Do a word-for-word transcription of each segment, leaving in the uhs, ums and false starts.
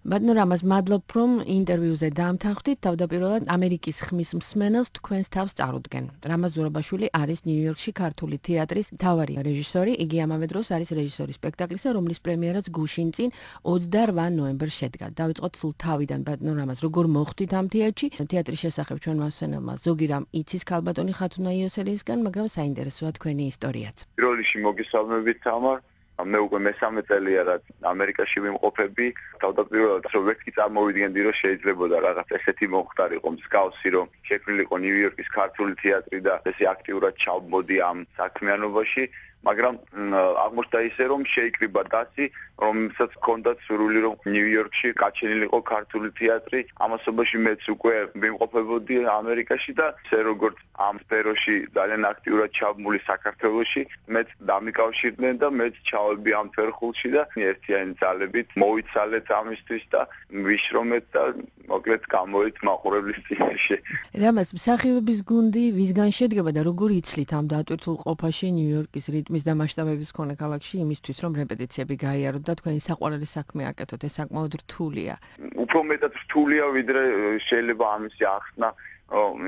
ბატონო რამაზ, მადლობ რომ ინტერვიუზე დაამთავრდით. თავდაპირველად ამერიკის ხმის მსმენელს თქვენს თავს წარუდგენ. რამაზ ზურაბაშვილი არის ნიუ-იორკში ქართული თეატრის მთავარი რეჟისორი. იგი ამავე დროს არის რეჟისორი სპექტაკლისა, რომლის პრემიერაც გუშინ წინ ოცდარვა ნოემბერს შედგა. დავიწყოთ სულ თავიდან, ბატონო რამაზ, როგორ მოხვდით ამ თეატრში? თეატრის შესახებ ჩვენმა მსმენელმა ზოგი რამ იცის ქალბატონი ხათუნა იოსელისგან, მაგრამ საინტერესოა თქვენი ისტორიაც. პირველ რიგში მოგესალმებით, თამარ. მე უკვე მესამე წელია რაც ამერიკაში ვიმყოფები. თავდაპირველად რომ ვერტკი წარმოვიდგენდი რომ შეიძლებოდა რაღაც ესეთი მომხდარიყო მსგავსი რომ შექმნილიყო ნიუ-იორკის ქართული თეატრი და ესე აქტიურად ჩავმოდი ამ საქმიანობაში, მაგრამ აღმოჩნდა ისე რომ შეიკრიბა დასი, რომელსაც ჰქონდა სურვილი რომ ნიუ-იორკში გაჩენილიყო ქართული თეატრი. ამასობაში მეც უკვე ვიმყოფებოდი ამერიკაში და ესე როგორც ამ სფეროში ძალიან აქტიურად ჩავმული საქართველოში, მეც დამიკავშირდნენ და მეც ჩავედი ამ ფერხულში და ერთიანი ძალებით მოვიცალეთ ამისთვის და ვიშრომეთ და მოკლედ გამოით მაყურებლის წინაშე. რამაზ, მსახიობების გუნდი ვისგან შედგება და როგორ იცლით ამ დატვირთულ ყოფაში ნიუ-იორკის რიტმის და მასშტაბების მქონე ქალაქში იმისთვის რომ რეპეტიციები გაიაროთ და თქვენი საყვარელი საქმე აკეთოთ? ეს საკმაოდ რთულია. უფრო მეტად რთულია ვიდრე შეიძლება ამისი ახსნა,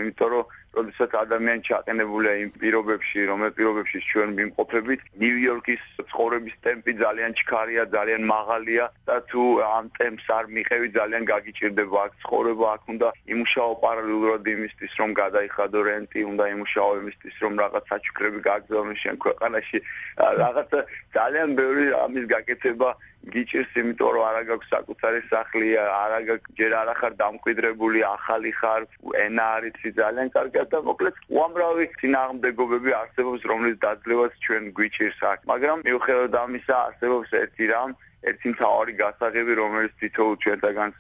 იმიტომ რომ როდესაც ადამიანი ჩაყენებულია იმ პირობებში, რომელ პირობებში ჩვენ ვიმყოფებით, ნიუ-იორკის ცხოვრების ტემპი ძალიან ჩქარია, ძალიან მაღალია და თუ ამ ტემპს არ მიყევი, ძალიან გაგიჭირდება აქ ცხოვრება, აქ უნდა იმუშაო პარალელურად იმისთვის, რომ გადაიხადო რენტი, უნდა იმუშაო იმისთვის, რომ რაღაც საჩუქრები გააგზავნო შენ ქვეყანაში. რაღაც ძალიან ბევრი ამის გაკეთება გიჭირს, იმიტომ რომ არა გაქვს საკუთარი სახლი, არა გაქვს ჯერ არ ახარ დამკვიდრებული, ახალი ხარ, ენა არ იცი ძალიან კარგად და მოკლედ უამრავი წინააღმდეგობები არსებობს, რომლის დაძლევაც ჩვენ გვიჭირს აქ. მაგრამ მიუხედავად ამისა, არსებობს ერთი რამ, ერთი მთავარი გასაღები, რომელიც თითოეულ ჩვენთაგანს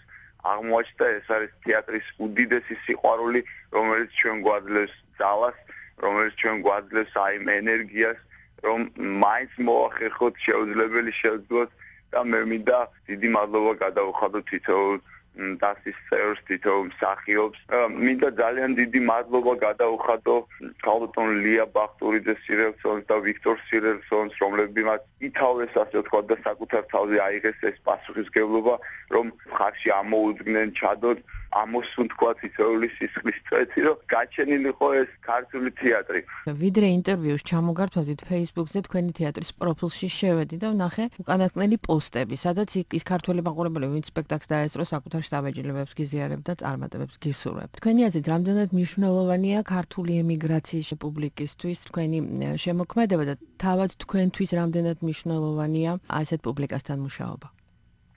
აღმოაჩნდა, ეს არის თეატრის უდიდესი სიყვარული, რომელიც ჩვენ გვაძლევს ძალას, რომელიც ჩვენ გვაძლევს აი იმ ენერგიას, რომ მაინც მოახერხოთ შეუძლებელი შევძლოთ და მე მინდა დიდი მადლობა გადავუხადო თითოეულ დასის წევრს, თითოეულ მსახიობს. მინდა ძალიან დიდი მადლობა გადავუხადო ქალბატონ ლია ბახტურიძეს სირელსონს და ვიქტორ სირელსონს, რომლებმაც ითავეს, ასე ვთქვათ, და საკუთარ თავზე აიღეს ეს პასუხისმგებლობა, რომ ხარში ამოუძგნენ, ჩადოთ, ამოსვენ თქვა თითოეული სისხლის წვეთი, რომ გაჩენილიყო ეს ქართული თეატრი. ვიდრე ინტერვიუს ჩამოგართვევდით Facebook-ზე თქვენი თეატრის პროფილში შევედი და ვნახე უკანასკნელი პოსტები, სადაც ის ქართველი მაყურებელი, ვინც სპექტაკლს დაესწრო, საკუთარ შთაბეჭდილებებს გიზიარებთ და წარმატებებს გისურვებთ. თქვენი აზრით, რამდენად მნიშვნელოვანია ქართული ემიგრაციის პუბლიკისთვის თქვენი შემოქმედება და თავად თქვენთვის რამდენად მნიშვნელოვანია ასეთ პუბლიკასთან მუშაობა?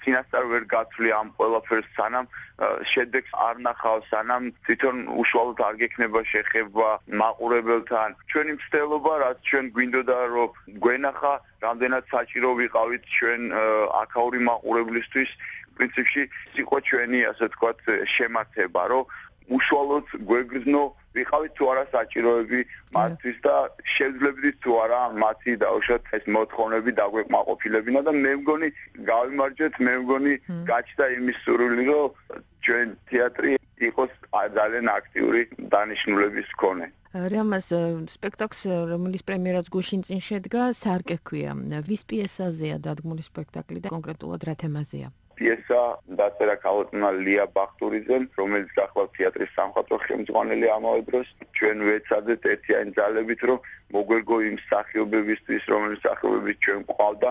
წინასწარ ვერ გაცვლი ამ ყველაფერს, სანამ შედეგს არ ნახავ, სანამ თვითონ უშუალოდ არ გექნება შეხება მაყურებელთან. ჩვენი მცდელობა, რაც ჩვენ გვინდოდა რომ გვენახა, რამდენად საჭირო ვიყავით ჩვენ აქაური მაყურებლისთვის, პრინციპში იყო ჩვენი, ასე ვთქვათ, შემართება, რომ უშუალოდ გვეგრძნო ვიყავით თუ არა საჭიროები მათთვის და შევძლებდით თუ არა მათი დაუშვათ ეს მოთხოვნები დაგვეკმაყოფილებინა და მე მგონი გავიმარჯვეთ, მე მგონი გაჩნდა იმის სურვილი, რომ ჩვენ თეატრი იყოს ძალიან აქტიური დანიშნულების მქონე. რამაზ, სპექტაკლს, რომლის პრემიერაც გუშინ წინ შედგა, სარკე ჰქვია. ვის პიესაზეა დადგმული სპექტაკლი და კონკრეტულად რა თემაზეა? პიესა დაწერა ქალბატონმა ლია ბახტურიძემ, რომელიც გახლავთ თეატრის სამხატვრო ხელმძღვანელი ამავე დროს. ჩვენ ვეცადეთ ერთიანი ძალებით, რომ მოგვერგო იმ მსახიობებისთვის, რომლის მსახიობები ჩვენ გვყავდა.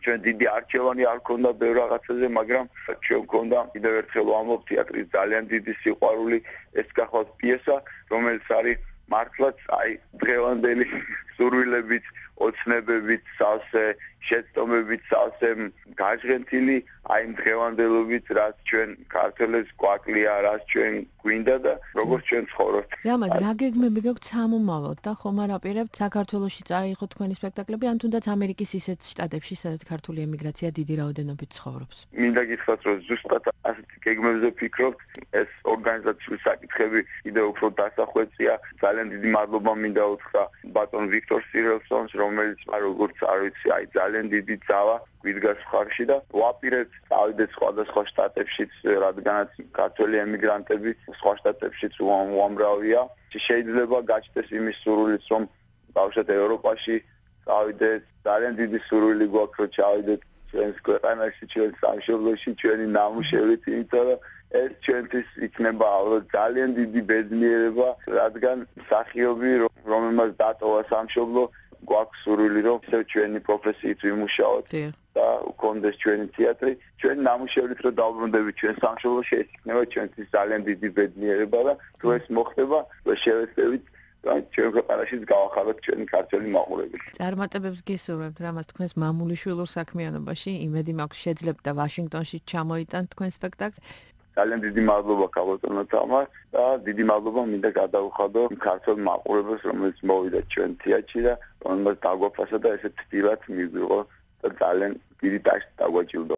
ჩვენ დიდი არჩევანი არ ქონდა ბევრ რაღაცაზე, მაგრამ ჩვენ გვქონდა კიდევ ერთხელ ვამბობ თეატრის ძალიან დიდი სიყვარული. ეს გახლავთ პიესა, რომელიც არის მართლაც აი დღევანდელი სურვილებით, ოცნებებით, სავსე შეცდომებით, სავსე გაჟღენთილი აი იმ დღევანდელობით, რაც ჩვენ ქართველებს გვაკლია, რაც ჩვენ გვინდა და როგორც ჩვენ ცხოვრობთ. რამაზ, რა გეგმები გაქვთ სამომავლოდ და ხომ არ აპირებთ საქართველოში წაიღოთ თქვენი სპექტაკლები, ან თუნდაც ამერიკის ისეთ შტატებში, სადაც ქართული ემიგრაცია დიდი რაოდენობით ცხოვრობს? მინდა გითხრათ, რომ ზუსტად ასეთი გეგმებზე ვფიქრობთ, ეს ორგანიზაციული საკითხები კიდევ უფრო დასახვეწია. ძალიან დიდი მადლობა მინდა უთხრა ბატონ ვიქტორ სირელსონს, რომელიც როგორც არ ვიცი, აი ძალიან დიდი ძალა გვიდგას მხარში და ვაპირებთ წავიდეთ სხვადასხვა შტატებშიც, რადგანაც ქართველი ემიგრანტები სხვა შტატებშიც უამრავია. შეიძლება გაჩნდეს იმის სურვილიც, რომ ბავშვად ევროპაში წავიდეთ, ძალიან დიდი სურვილი გვაქვს, რომ ჩავიდეთ ჩვენს ქვეყანაში, ჩვენს სამშობლოში, ჩვენი ნამუშევრით, იმიტომ რომ ეს ჩვენთვის იქნება ძალიან დიდი ბედნიერება, რადგან მსახიობი, რომელმაც დატოვა სამშობლო, გვაქვს სურვილი, რომ ისევ ჩვენი პროფესიით ვიმუშაოთ და გქონდეს ჩვენი თეატრი, ჩვენი ნამუშევრით რომ დავბრუნდებით ჩვენ სამშობლოში, ეს იქნება ჩვენთვის ძალიან დიდი ბედნიერება და თუ ეს მოხდება, შევეცდებით ჩვენ ქვეყანაშიც გავახაროთ ჩვენი ქართველი მაყურებელი. წარმატებებს გისურვებთ რამაც თქვენს მამულიშვილურ საქმიანობაში, იმედი მაქვს შეძლებთ და ვაშინგტონში ჩამოიტანთ თქვენ სპექტაკლს. ძალიან დიდი მადლობა ქალბატონო თამარ და დიდი მადლობა მინდა გადავუხადო ქართველ მაყურებელს, რომელიც მოვიდა ჩვენ თეატრში და რომელმაც დაგვაფასა და ესე თბილად მიგვიღო და ძალიან დიდი დაშლა დაგვაჯილდო.